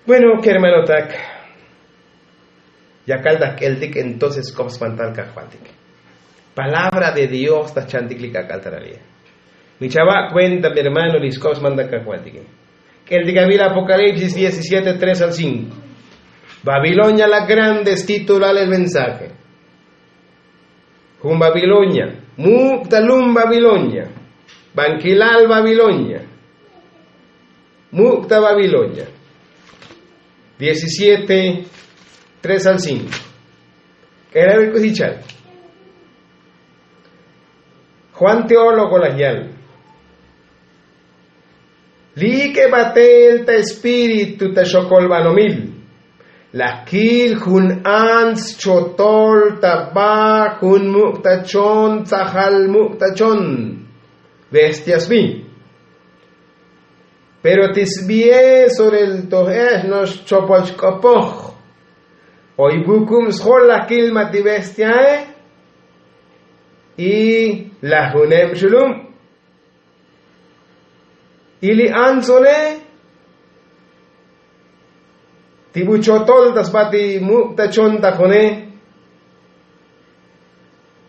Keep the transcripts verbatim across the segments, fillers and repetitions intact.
Bueno, kermanotak, yakal ta k'eltik entonces k'op spantal kajvaltik. Palabra de dios ta chantik li kak'al ta ralil. Mi chava' kuenta mi hermano li sk'op spantal kajvaltik. K'eltik avil apokalipsis diecisiete tres al cinco. Babilonia la grande es titulal el mensaje. Jun babilonia, muk' ta lum babilonia, bankilal babilonia, muk' ta babilonia. Diecisiete tres al cinco. K'elavil k'usi chal. Juan teólogo laj yal. Li ik'e batel ta espíritu ta xokolbanomil laj kil jun ants chotol ta ba jun muk' ta chon tzajal muk' ta chon bestia sbi. Pero ti sbie sorel toj ej no'ox chopol chk'opoj oy bukub sjol laj kil ma' ti bestiae. Y laj juneb xulub. Y li antsone ti bu chotol ta sba ti muk' ta chon ta june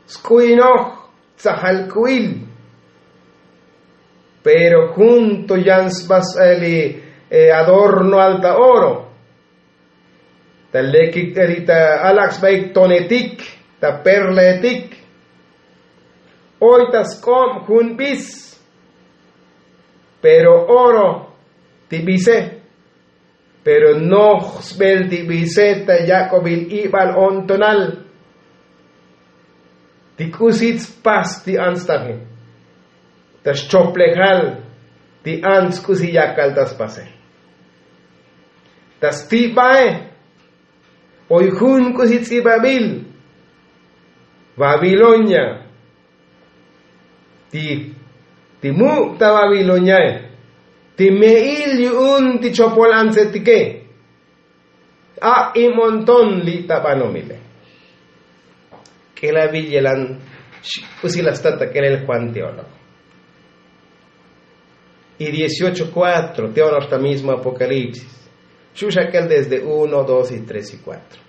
sk'uinoj tzajal k'uil. Pero jun to yan sba sba li adornoal ta oro ta lekik ta alak sbaik tonetik ta perlaetik. Oy ta sk'ob jun bis. Pero oro ti bise. Pero noj sbel ti bise ta yak'obil ibal o'ntonal. Ti k'usi tspas ti ants taje ta xchoplejal ti ants k'usi yakal ta spase. Ta stibae oy jun k'usi ts'ibabil. Babilonia ti ti muk' ta babiloniae ti me'il yu'un ti chopol antsetike. Ak' imonton li' ta banomile. K'elabil yelan k'usi la stat ta k'elel juan teólogo. Y dieciocho cuatro teólogo ta mismo apokalipsis xu' xa k'el desde uno dos y tres y cuatro.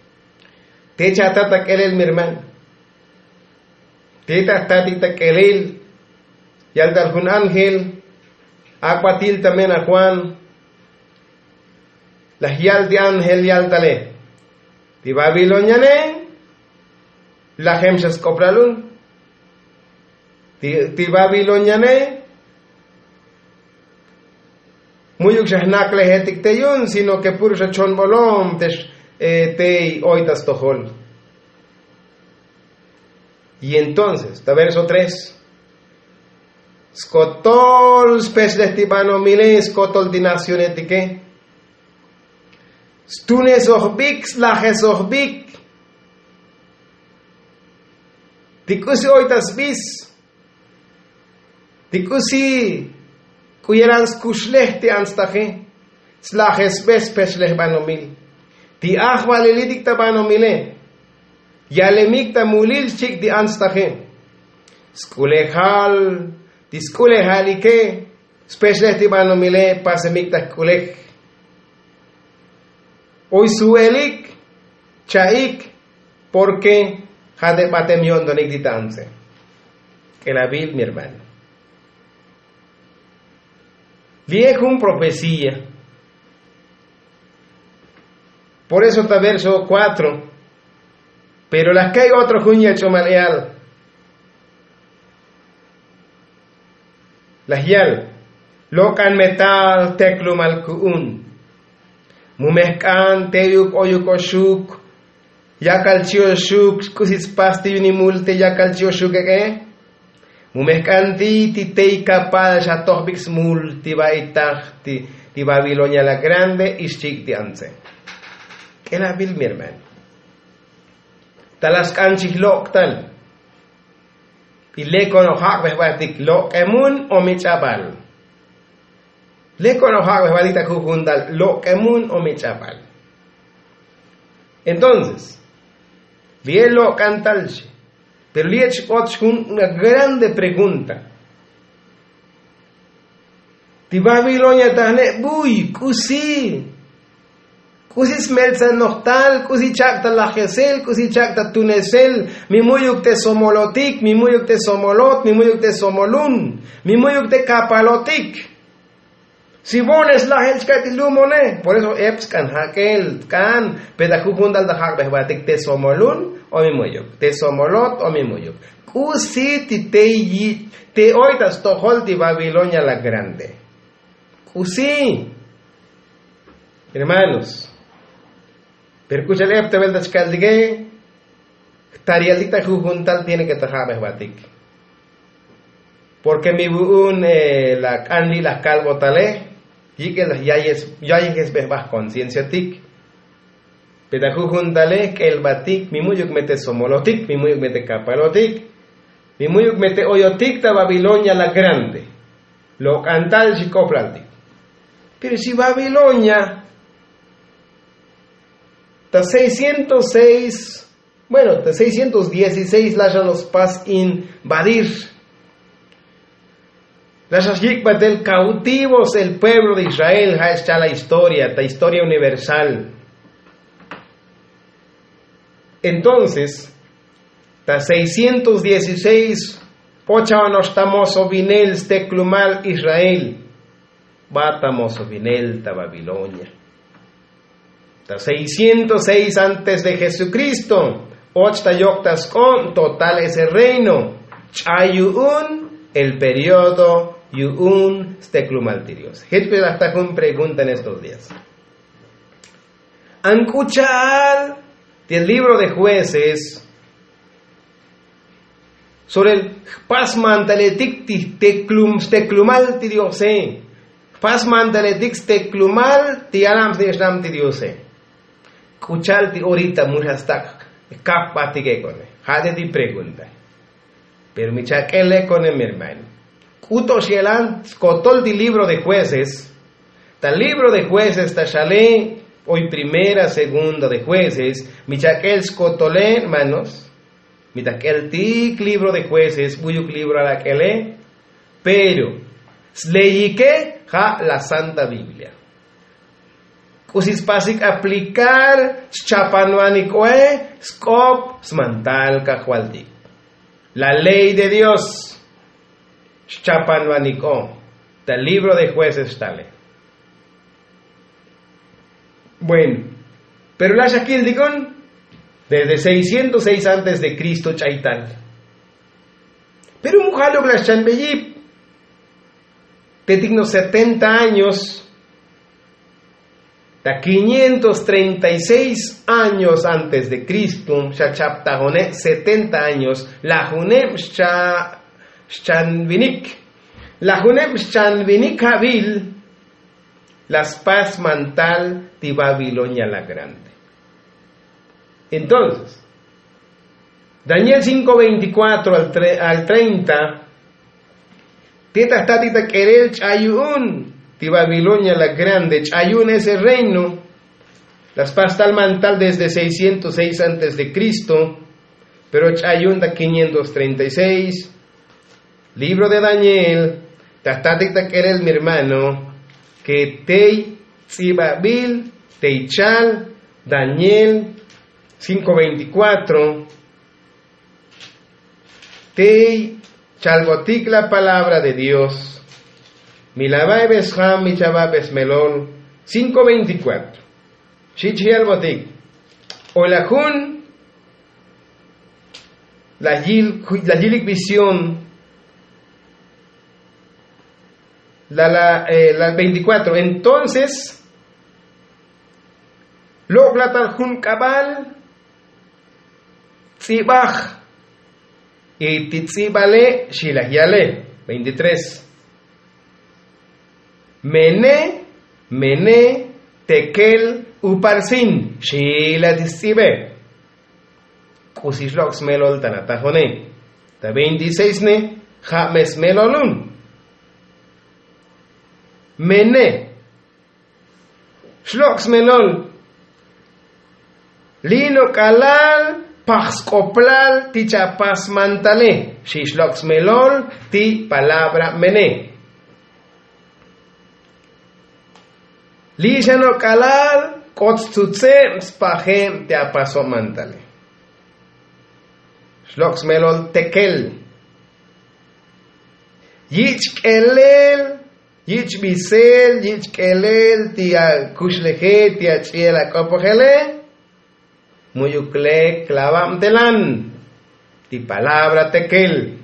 Te cha' tat ta k'elel mi hermano. Te ta jtatik ta k'elel yal tal jun ángel ak'batil ta mena juan. Laj yal ti ángel yal tale ti babiloniane lajem xa sk'oplalun. Ti babiloniane mu'yuk xa jnaklejetik te yu'un sino ke puro xa chonbolom te tey oy ta stojol. Y entonces ta verso tres skotol spechlej ti banomile skotol ti nacionetike. Stunesojbik slajesojbik ti k'usi oy ta sbis ti k'usi k'u yelan skuxlej ti antstaje. Slajesbe spechlej banomil ti ajvalilitik ta banomile. Yalemik ta mulil xchik' ti antstaje. Sk'ulejal ti sk'ulejalike spechlej ti banomile pasemik ta jk'ulej. Oy suelik cha'ik porke ja' te batem yo'ntonik ti ta antse. K'elabil mi hermano. Li'e jun profecía. Por eso ta verso cuatro. Pero laj key otro jun yech'omal eal laj yal lok'an metal teklumal ku'un. Mu mejk'an teyuk oyuk oxuk yakal chi' oxuk k'usi spas ti yunimul te yakal chi' oxuk ek'e. Mu mejk'an ti ti tey kapal xa tojbik smul ti ba'itaj ti babilonia la grande ixchik' ti antse. K'elabil mi hermano. Ta la sk'an chij lok' tal. Y lekon ojak' bejbaltik lok'emun o mi ch'abal. Lekon ojak' bejbaltik ta jujun tal lok'emun o mi ch'abal. Entonces li'e lok'an tal xi. Pero li'e ch'ot xjun una grande pregunta. Ti babilonia tajne' buy k'usi K'usi smeltsan nojtal, k'usi chak' ta lajesel, k'usi chak' ta tunesel. Mi mu'yuk te somolotik, mi mu'yuk te somolot, mi mu'yuk te somolun, mi mu'yuk te kapalotik. Si vo'ones lajel chka' ti lumone. Por eso ep sk'an jak'el tk'an. Pe ta jujun tal ta jak'be jbatik te somolun o mi mu'yuk, te somolot o mi mu'yuk. K'usi ti te yi- te oy ta stojol ti babilonia la grande? K'usi? Hermanos, pero k'u cha'al ep ta velta chkaltike. Jtarialtik ta jujun tal tiene ke ta ja'be jbatik. Porke mi vu'un la k'an li' laj kalbotale yik'el laj yayejesbe jba jkoncienciatik. Pe ta jujun tale jk'elbatik mi mu'yuk me te somolotik, mi mu'yuk me te kapalotik, mi mu'yuk me te oyotik ta babilonia la grande. Lok'an tal xik'oplaltik. Pero si babilonia ta seiscientos seis, bueno, ta seiscientos dieciséis la xa nos pas invadir, la xa xyik'batel kautivos el pueblo de israel. Ja' xcha' la historia, ta historia universal. Entonces ta seiscientos dieciséis, ocha noxta mosovinel steklumal israel. Bata mosovinel ta babilonia ta seiscientos seis antes de jesukristo. Och ta yok' ta sk'ob total ese reino. Ch'ay yu'un el periodo yu'un steklumal ti dios. Jech pe laj ta jun pregunta en estos días. An k'u cha'al ti el libro de jueces sobre el jpasmantaletik ti jteklum steklumal ti diose. Jpasmantaletik steklumal ti yanam snich'nam ti diose. K'u cha'al ti orita mu xa stak' jkapbatik ek'one? Ja' te ti pregunta. Pero mi chak'el ek'one mi hermano, k'u to xyelan skotol ti libro de jueces. Ta libro de jueces ta xale, oy primera segunda de jueces. Mi chak'el skotole hermanos, mi ta jk'eltik libro de jueces, buyuk libro alak'ele. Pero sleyike ja' la santa biblia. K'usi spasik aplicar xchapanvanik oe sk'op smantal kajvaltik. La ley de dios xchapanvanik o ta libro de jueces xtale. Bueno, pero la xa kiltikon desde seiscientos seis antes de kristo ch'aytal. Pero mu jaluk la xchanbeyip te tikno setenta años ta quinientos treinta y seis años antes de kristo xa chaptajone setenta años. Lajuneb xcha xchanvinik. Lajuneb xchanvinik javil la spas mantal ti babilonia la grande. Entonces daniel cinco veinticuatro al treinta, ti ta jtatik ta k'erel ch'ayu'un ti babilonia la grande ch'ayu'un ese reino. La spas tal mantal desde seiscientos seis antes de kristo. Pero ch'ayu'un ta quinientos treinta y seis. Libro de daniel ta jtatik ta k'erel mi hermano ke tey tz'ibabil tey chal daniel cinco veinticuatro. Tey chalbotik la palabra de dios. Mi la va'be sjam mi chava'be smelol. Cinco veinticuatro. Xich yalbotik o la jun la yilik visión. La la la veinticuatro entonces lok'la tal jun k'abal tz'ibaj. Y ti tz'ibale xilaj yale veintitrés. Mene mene tekel uparsin xilaj ti stz'ibe. K'usi xlok' smelol ta natajone ta veintiseis ne ja' me smelolun. Mene xlok' smelol li' no' k'alal paj sk'oplal ti chapasmantale. Xix lok' smelol ti palabra mene. Li' xa no' k'alal K'ot stzutzeb spajeb te apasob mantale. Xlok' smelol tekel. Yich' k'elel, yich' bisel, yich' k'elel ti akuxleje, ti ach'iel ak'opojele. Mu'yuk lek lavabtelan ti palabra tekel.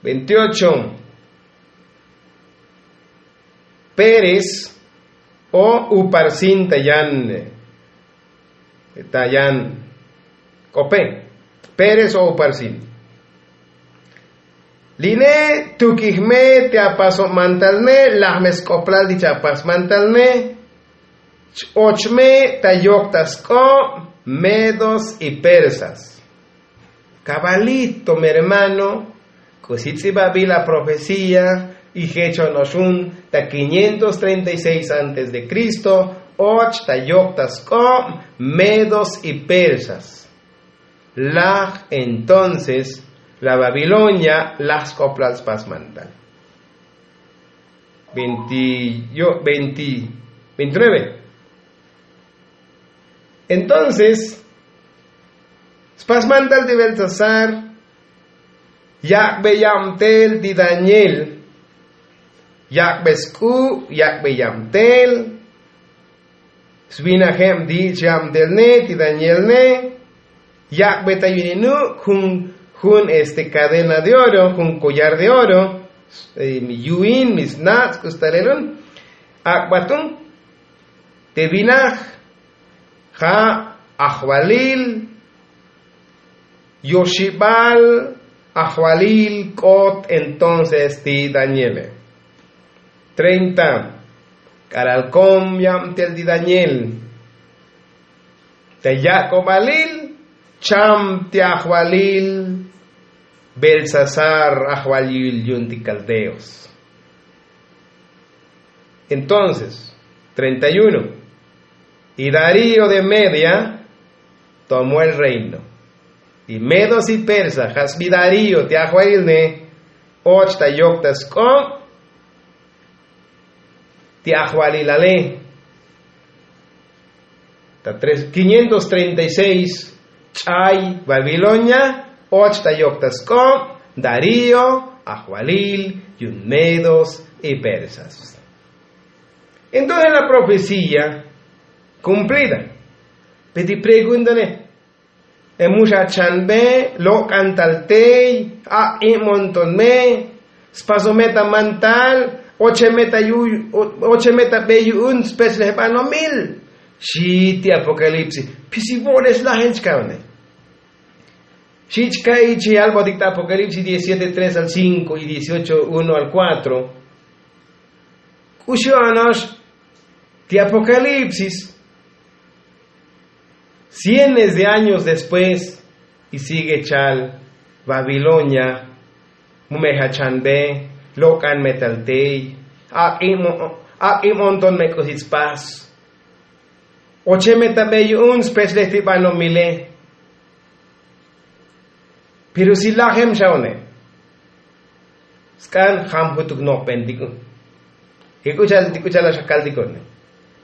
Veintiocho. Pérez o uparsin ta yan, ta yan k'ope. Pérez o uparsin. Line tukij me ti apasob mantal ne, laj me sk'oplal ti chapas mantal ne. Ch-och me ta yok ta sk'ob medos y persas. Kabalito mi hermano, k'usi tz'ibabil aprofecía y jecho noxun ta quinientos treinta y seis antes de Cristo, och ta yok ta sk'ob medos y persas. Laj entonces la Babilonia laj sk'oplal spas mantal. Veinti, veintinueve. Entonces spas mantal ti Belsasar, yak'be yabtel ti Daniel. Yak'be sk'u', yak'be yabtel. Svinajeb ti yich' yabtel ne ti Daniel ne. Yak'be ta yu'un inuk' jun, jun este cadena de oro, jun collar de oro, mi yu'in, mi snatz' k'usi talelun. Ak'batun te vinaj ja' ajvalil, yoxibal ajvalil k'ot entonces ti Daniele. Treinta. K'alal kom yabtel ti Daniel ta yak'obalil cham ti ajvalil Belsasar ajvalil yu'un ti kaldeos. Entonces treinta y uno. Y Darío de Media tomó el reino. Y medos y persas ja' sbi Darío ti ajvalil ne och ta yok ta sk'ob ti ajvalilale. Ta tres quinientos treinta y seis ch'ay Babilonia och ta yok ta sk'ob Darío ajvalil yu'un medos y persas. Entonces la profecía cumplida. Pe ti preguntane, e muxa chanbe lok'antal tey, ak'ib monton me, spasome ta mantal, oche me ta yu oche me ta be yu'un spechlej banomil. Xi ti apokalipsis. Pisi vo'oles lajen chkaune. Xi chka ichi albotik ta apokalipsis diecisiete tres al cinco y dieciocho uno al cuatro. K'uxi onox ti apokalipsis. Cienes de años después y sigue chal babilonia. Mu me jachanbe lok'an me tal tey, ak'ib monton me k'usi tspas. Oche me ta be yu'un spechlej ti banomile. Pero si lajem xaone sk'an jam jutuk no'bentik un. Ti k'u cha'al ti k'u cha'al la xakaltik un.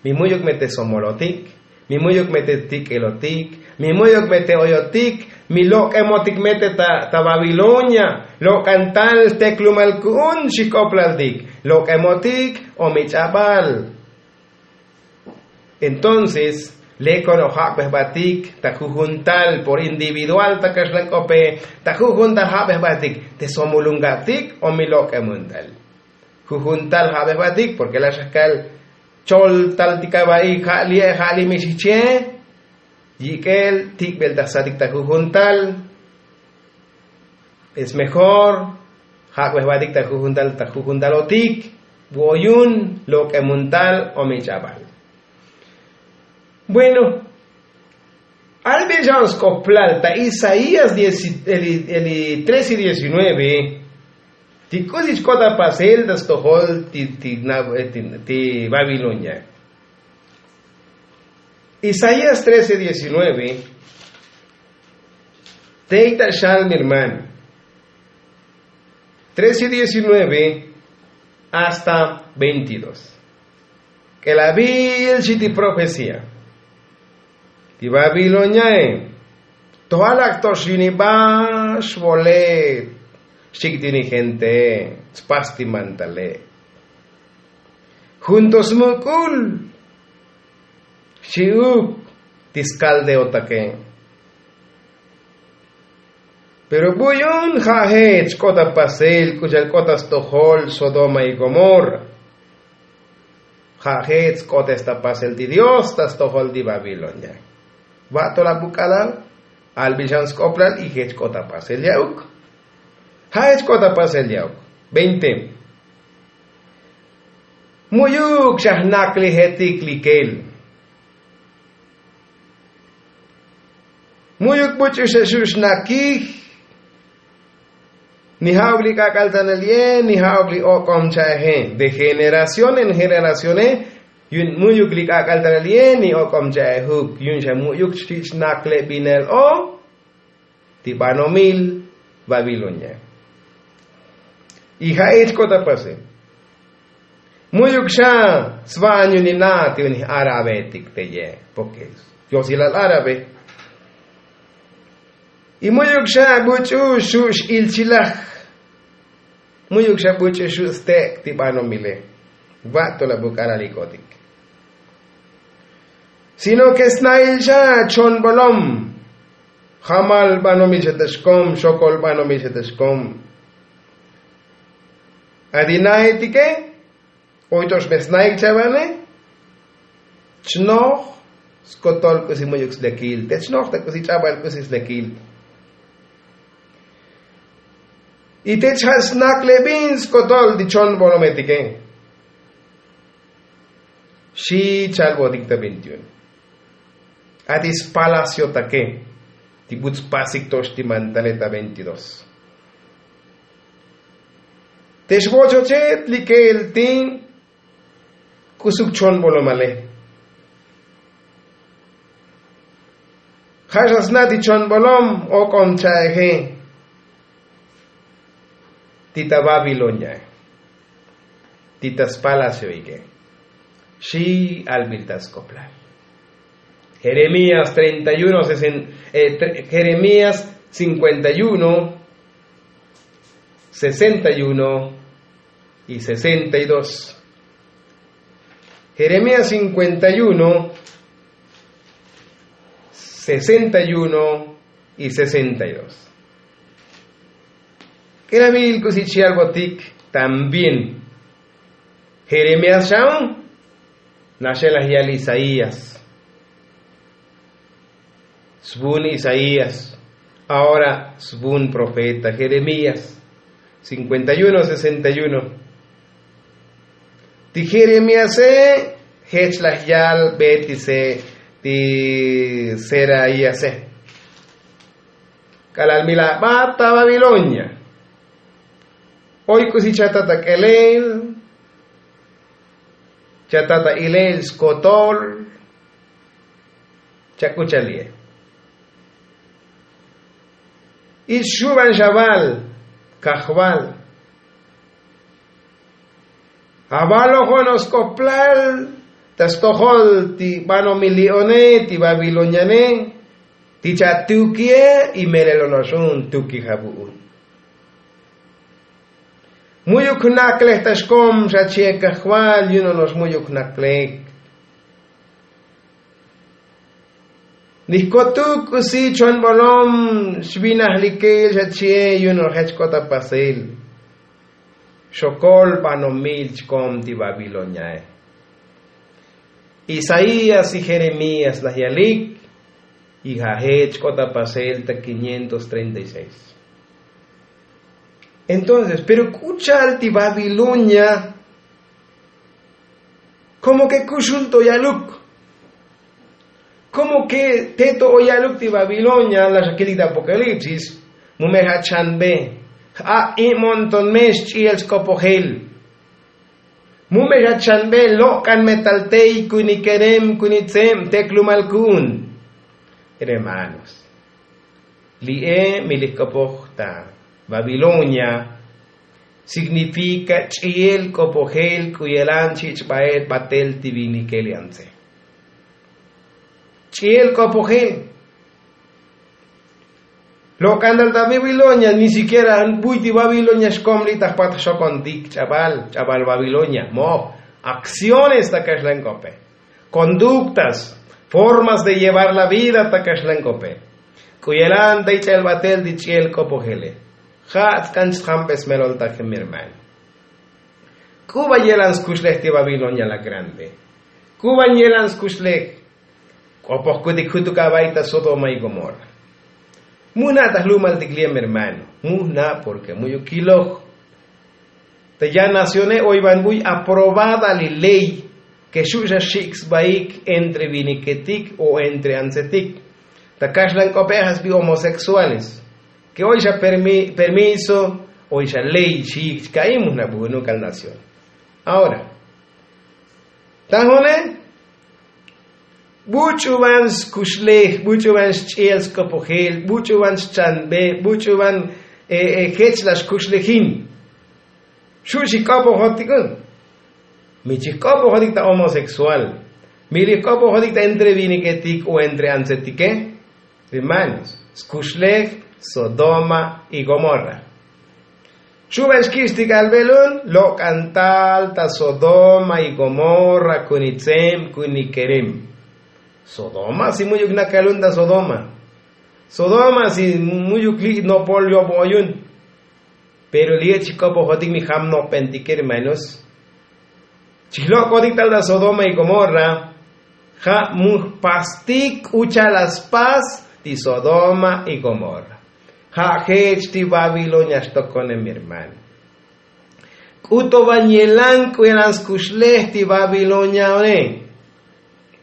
Mi mu'yuk me te somolotik, mi mu'yuk me te tik'ilotik, mi mu'yuk me te oyotik, mi lok'emotik me te ta babilonia. Lok'antal jteklumal ku'un xik'oplaltik, lok'emotik o mi ch'abal. Entonces lek ono'ox jak'be jbatik ta jujuntal por individual ta kaxlan k'ope, ta jujuntal jak'be jbatik te somulunga'tik o mi lok'emuntal. Jujuntal jak'be jbatik porke la' xakal choltal ti kaba'i ja' li'e ja' li' mi xijche. Yik'el tik'bel ta jsatik ta jujuntal. Es mejor jak'be jbatik ta jujuntal ta jujuntal otik, bu oyun lok'emuntal o mi ch'abal. Bueno, albil xa'on sk'oplal ta isaías trece y diecinueve. Ti k'usi chk'ot apasel ta stojol ti babilonia. Isaías trece diecinueve. Tey ta xal mi hermano. Trece diecinueve hasta veintidós. K'elabil xi ti profecía ti babiloniae. Tojal ak to xyuniba xvolet xchik ti ni gente. Tspas ti mantale. Jun to smuk'ul xchi'uk ti skaldeotake. Pero bu yu'un ja' jech k'ot ta pasel k'u cha'al k'ot ta stojol sodoma y gomorra. Ja' jech sk'otes ta pasel ti dios ta stojol ti babilonia. Va' to la buk'alal albil xan sk'oplal y jech k'ot ta pasel ya'uk. Ja' jech k'ot ta pasel ya'uk. Veinte. Mu'yuk xa jnaklejetik likel. Mu'yuk buch'u xa xu' xnakij. Ni ja'uk li k'ak'altanel ye ni ja'uk li ok'om cha'eje de generación en generacione. Yu'un mu'yuk li k'ak'altanel ye ni ok'om cha'ejuk yu'un xa mu'yuk xchi' xnaklebinel o ti banomil babilonia. Y ja'ich k'ot ta pase. Mu'yuk xa sva'an yu'un ni na' ti yu'un ni árabetik te ye. Porke yosilal árabe. Y mu'yuk xa buch'u xu' x'ilchilaj. Mu'yuk xa buch'u xu' stek' ti banomile. Va' to la buk'alal ik'otik. Sino ke sna'il xa chonbolom. Jamal banomil xa ta xkom xokol banomil xa ta xkom. Ati na'etike oy to xme sna'ik chavane. Chnoj skotol k'usi mu'yuk slekil te chnoj ta k'usi ch'abal k'usi slekil. Y te chja' snak lebin skotol ti chon bolometike. Xi chalbotik ta veintiuno. Ati spalaciotake ti buts pasik tox ti mantale ta veintidos. Te xvochochet likel ti k'usuk chon bolomale. Ja' xa sna ti chon bolom ok'om cha'eje. Ti ta babiloniae ti ta spalacioike. Xi albil ta sk'oplal. Jeremías treinta y uno sesen- eh, tre- jeremías cincuenta y uno, sesenta y uno y sesenta y dos. Jeremías cincuenta y uno, sesenta y uno y sesenta y dos. K'elavil k'usi chi albotik también. Jeremías xa'un naxelaj yal isaías. Svun isaías. Ahora svun profeta jeremías. Cincuenta y uno sesenta y uno. Ti jeremíase jech laj yal betise ti seraíase. K'alal mi la bat ta babilonia. Oy k'usi chatat ak'elel chatat a ilel skotol. Chak'uchalie. Ich xuban xaval kajval. Avalojon osk'oplal ta stojol ti banomil li'one ti babiloniane. Ti chatukie y melel onoxun tukija vu'un. Mu'yuk jnaklej ta xkom xa chie kajval yu'un onox mu'yuk jnaklej. Ni jkotuk k'usi chon bolom xvinaj likel xa chie yu'un onox jech k'ot ta pasel. Xokol banomil chkom ti babiloniae. Isaías y jeremías laj yalik. Y ja' jech k'ot ta pasel ta quinientos treinta y seis. Entonces pero k'u cha'al ti babilonia. Komo ke kuxun to yaluk. Komo ke te to o yaluk ti babilonia laj xa kilik ta apokalipsis. Mu me ja' chanbe ja' imonton me xch'iel sk'opojel. Mu me ja' chanbe lok'an me tal tey kuni kerem kuni tseb teklumal ku'un. Hermanos, li'e mi lij k'opoj ta babilonia. Signifika ch'i'el k'opojel k'u yelan chich' ba'el batel ti vinikel yantze. Ch'i'el k'opojel. Lok'antal ta babilonia ni sikiera buy ti babilonia xkomli ta jpat jxokontik ch'abal ch'abal babilonia moj. Akciones ta kaxlan k'ope, konduktas, formas de llevar la vida ta kaxlan k'ope. K'u yelan ta ich'el batel ti ch'i'el k'opojele. Ja' tsk'an chjambes melol ta jemirman. K'u ba yelan skuxlej ti babilonia la grande? K'u ban yelan skuxlej? K'opojkutik jutuk aba'i ta sodoma y gomorra. Mujna' ta jlumaltik li' mi hermano, mujna'. Porke mu'yuk kiloj ta ya nacione oy ban buy aprobada li ley ke xu' xa xik' sbaik entre viniketik o entre antzetik. Ta kaxlan k'ope' ja' sbi homosexuales ke oy xa permiso, oy xa ley xik' chka'i mujna' bujunuk al nacione. Ahora ta june buch'uban skuxlej, buch'uban xch'iel sk'opojel, buch'uban xchanbe, buch'uban jech la xkuxlejin. Xu' xik'opojotik un. Mi chijk'opojotik ta homosexual, mi lijk'opojotik ta entre viniketik o entre antzetike. Hermanos, skuxlej sodoma y gomorra. Xu' ban xkich'tik albelun lok'antal ta sodoma y gomorra kuni tseb kuni kerem. Sodoma si mu'yuk nakalun ta sodoma. Sodoma si mu'yuk li' nopol yob oyun. Pero li' chijk'opojotik mi jam nopbentike hermanos. Chijlok'otik tal ta sodoma y gomorra. Ja' mujpastik k'u cha'al la spas ti sodoma y gomorra. Ja' jech ti babilonia xtokone mi hermano. K'u to ban yelan k'u yelan skuxlej ti babilonia one.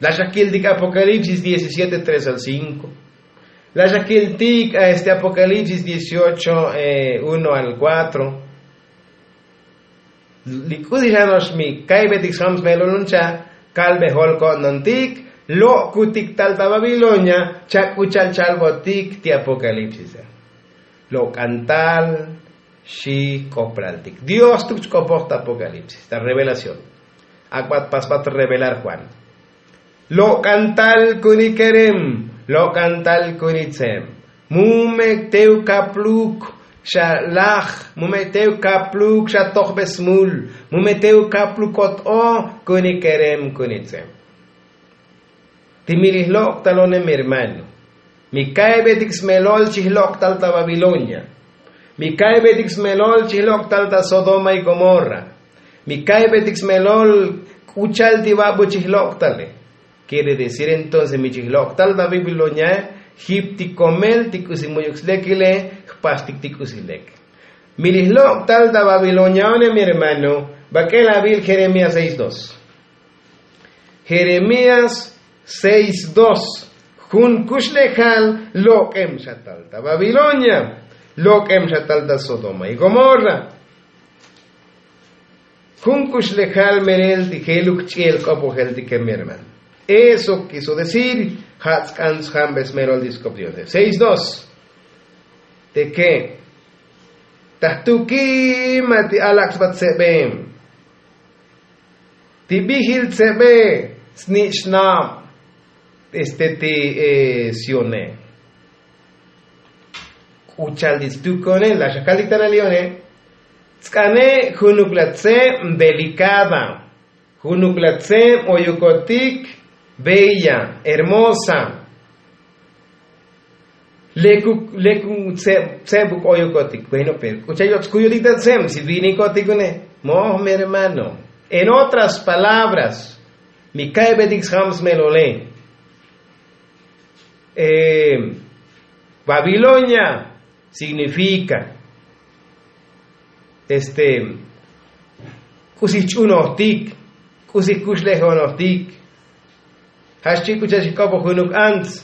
La xa kiltik apokalipsis diecisiete tres al cinko. La xa kiltik a este apokalipsis dieciocho uno al kuatro. Li k'usi xa no'ox mi ka'ybetik sjam smelolun cha' kalbe jol ko'nontik. Lok'kutik tal ta babilonia cha' k'u cha'al chalbotik ti apokalipsis a. Lok'antal xi k'oplaltik dios tuk chk'opoj ta apokalipsis ta revelación. Ak'bat pasbat revelar juan. Lok'antal kuni kerem, lok'antal kuni tsem. Mu me' tew kapluk xa laj, mu me' tew kapluk xa tojbe smul, mu me' tew kapluk kot o kuni kerem kuni tsem. Ti mi lijlok'tal one mi hermano, mi ka'ybetik smelol chijlok'tal ta babilonia. Mi ka'ybetik smelol chijlok'tal ta sodoma y gomorra. Mi ka'ybetik smelol k'u cha'al ti babu chijlok'tale. Kiere decir entonces mi chijlok'tal ta babiloniae jip ti komel ti k'usi mu'yuk slekile. Jpastik ti k'usi lek. Mi lijlok'tal ta babilonia one mi hermano. Bak'el abil jeremías seis dos. Jeremías seis dos. Jun kuxlejal lok'em xa tal ta babilonia, lok'em xa tal ta sodoma y gomorra. Jun kuxlejal melel ti jeluk ch'i'el k'opojel ti ke mi hermano. Eso kiso decir ja' tsk'an sjambes melol ti sk'op diose seis dos. Te ke ta jtukima ti alak' sba tsebe. Ti bijil tsebe snich'nab este ti sione. K'u cha'al ti stukone la xa kaltik ta nalione. Tsk'ane junuk la tseb delikada. Junuk la tseb oyukotik bella, hermosa. Lekuk lekuk tseb tseb buk oyukotik bueno pero k'u cha'al yoch' kuyotik ta tseb si vinikotik une. Moj mi hermano, en otras palabras, mi ka'ybetik sjam smelole. Babilonia signifika este k'usi jch'unojtik, k'usi jkuxlejonojtik. Ja' xchi' k'u cha'al xik'opoj junuk ants.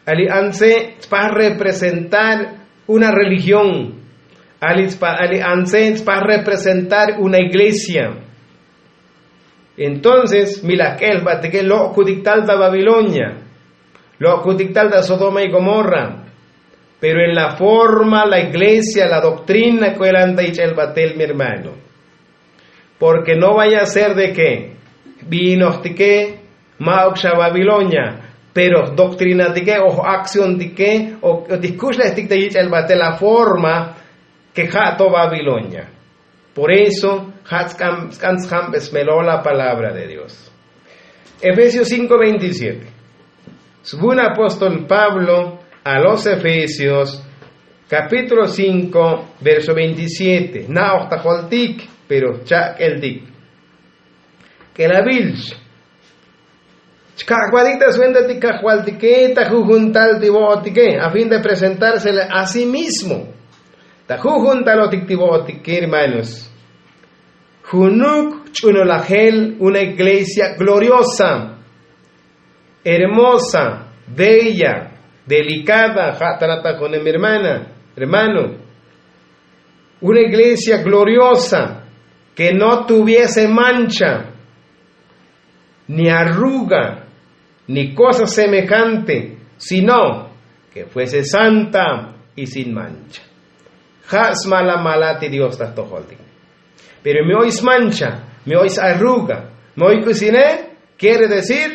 Ali antse tspaj representar una religión. Ali antse tspaj representar una iglesia. Entonces mi laj k'el jbatike lok'kutik tal ta babilonia, lok'kutik tal ta sodoma y gomorra. Pero en la forma la iglesia la doktrina k'uelan ta ich'el batel mi hermano. Porke no vaya a ser de ke binojtike ma'uk xa babilonia, pero doktrinatike o aksiontike o ti jkuxlejtik ta ich'el batel la forma ke ja' to babilonia. Por eso ja' tsk'an tsk'an tsjambesmelo la palabra de dios. Efesios cinko veintisiete. Svun apóstol pablo a los efesios, kapítulo cinko, verso veintisiete. Na'oj ta joltik pero cha'k'eltik. K'elavilch chka'kbatik ta sventatik kajvaltike ta jujuntal ti vo'otike a fin de presentársele a sí mismo. Ta jujuntalotik ti vo'otike hermanos, junuk ch'unolajel una iglesia gloriosa, hermosa, bella, delicada ja' ta nata' jun mi hermana, hermano. Una iglesia gloriosa ke no tuviese mancha, ni arruga, ni kosa semejante, sino ke fuese santa y sin mancha. Ja' smala mala ti dios ta jtojoltik. Pero mi oy smancha, mi oy sarruga, mi oy k'usine, kiere decir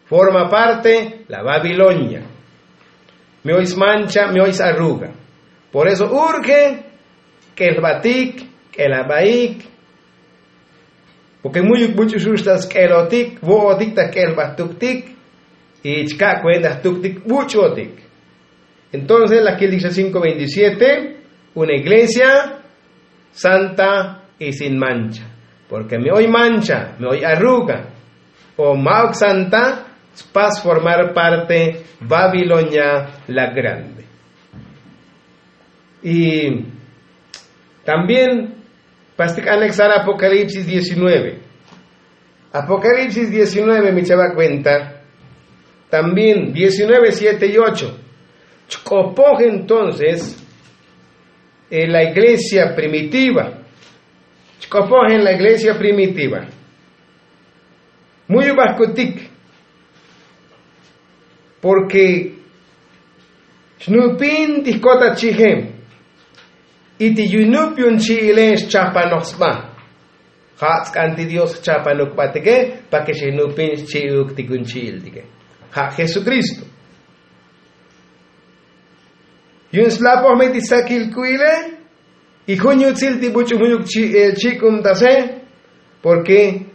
forma parte la babilonia. Mi oy smancha, mi oy sarruga. Por eso urge k'elbatik, k'elabaik, porke mu'yuk buch'uxux ta sk'elotik vo'otik ta k'elbat tuktik. Y chka' kuenta jtuktik buch'otik. Entonces la kiltik xa cinko veintisiete, una iglesia santa y sin mancha. Porke mi oy mancha, mi oy arruga, o ma'uk santa, spas formar parte babilonia la grande. Y también pastik anexar apocalipsis diecinueve. Apocalipsis diecinueve mi chava' kuenta. También diecinueve siete y ocho. Chk'opoj entonces en la iglesia primitiva. Chk'opoj en la iglesia primitiva. Muy ubajkutik. Porke xnupin ti jkota chije. Y ti yunup yun chi'ile xchapanoj sba. Ja' tsk'an ti dios jchapanuk batike. Pake xinupin xchi'uk ti kun chi'iltike, ja' jesukristo. Yun slapoj me ti sakil k'u'ile. Y jun yutsil ti buch'u jun yuk chik'umtase. Porke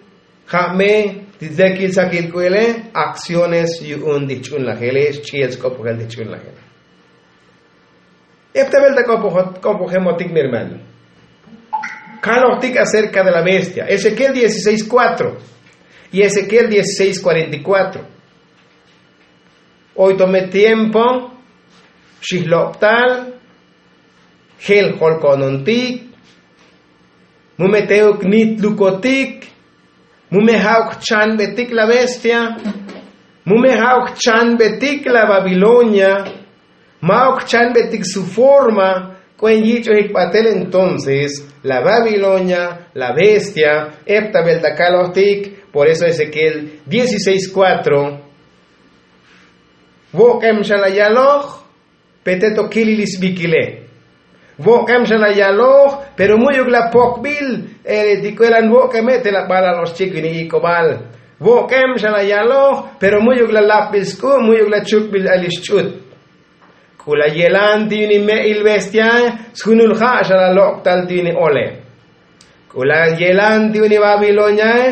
ja' me ti dekil sakil k'u'ile aksiones yu'un ti jch'unlajele xch'i'el sk'opojel ti jch'unlajele. Epta velta k'opojemotik mi hermano. Kalojtik acerka de la bestia ezekiel dieciséis kuatro y ezekiel dieciséis kuarenta y kuatro. Oy to me tiempo xijlobtal, jel jolko'nontik, mu me te'uk nitlukotik, mu me ja'uk jchanbetik la bestia, mu me ja'uk jchanbetik la babilonia, ma'uk jchanbetik su forma. K'uen yich'ojik batel entonces la babilonia, la bestia. Epta velta kalojtik. Por eso ezekiel dieciséis kuatro. Vok'em xa la yaloj, pete to kilil isbikile. Vok'em xa la yaloj, pero mu'yuk la pokbil ti k'uelan vok'eme te la balal oxchik vini ik'obal. Vok'em xa la yaloj, pero mu'yuk la lapbil sk'u', mu'yuk la chukbil alixch'ut. K'u la yelan ti vini me'il bestiae sjunul ja' xa la lok'tal ti vini ole. K'u la yelan ti uni babiloniae,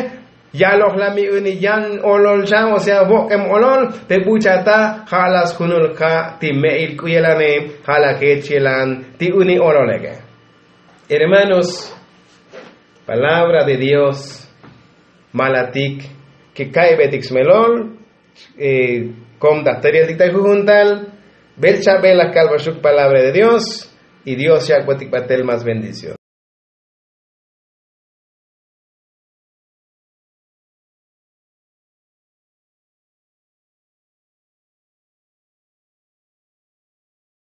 yaloj la mi uni yan olol xan o sea vok'em olol. Pe buchata ja' la sjunul ja' ti me'il k'u yelane, ja' la jech yelan ti uni ololeke. Hermanos, palabra de dios malatik ke ka'ybetik smelol. Kom ta jtereltik ta jujuntal. Bel chabel la kalbaxuk palabra de dios. Y dios yak'botik batel más bendición.